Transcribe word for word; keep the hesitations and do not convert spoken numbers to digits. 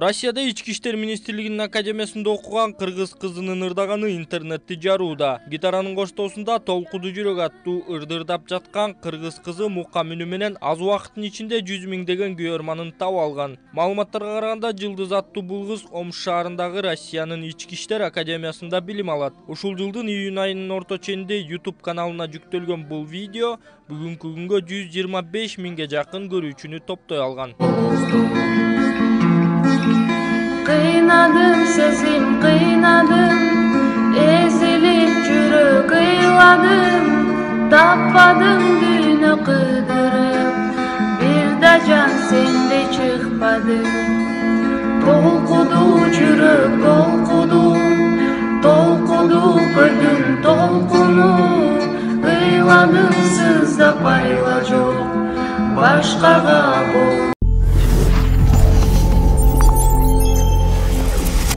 Россияда Ички иштер министрлигинин академиясында окуган кыргыз кызынын ырдаганы интернетти жарууда. Гитаранын коштоосунда толкуду жүрөк аттуу ырдырдап жаткан кыргыз кызы мукка мүнү менен аз убакыттын ичинде жүз миңдеген күйөрманын таап алган. Маалыматтарга караганда Жылдыз аттуу бул кыз Омск шаарындагы Россиянын Ички иштер академиясында билим алат. Ушул жылдын июнь айынын орто ченинде YouTube каналына жүктөлгөн бул видео бүгүнкү күнгө жүз жыйырма беш миңге жакын көрүүчүнү топтой алган. Кыйнадым сезим кыйнадым, эзилип жүрөк ыйладым, таппадым дүйнө кыдырып, бир да жан сендей чыкпады. Толкуду жүрөк толкуду, толкуду көрдүм толкуну, ыйладым сыздап айла жок, башкага бол.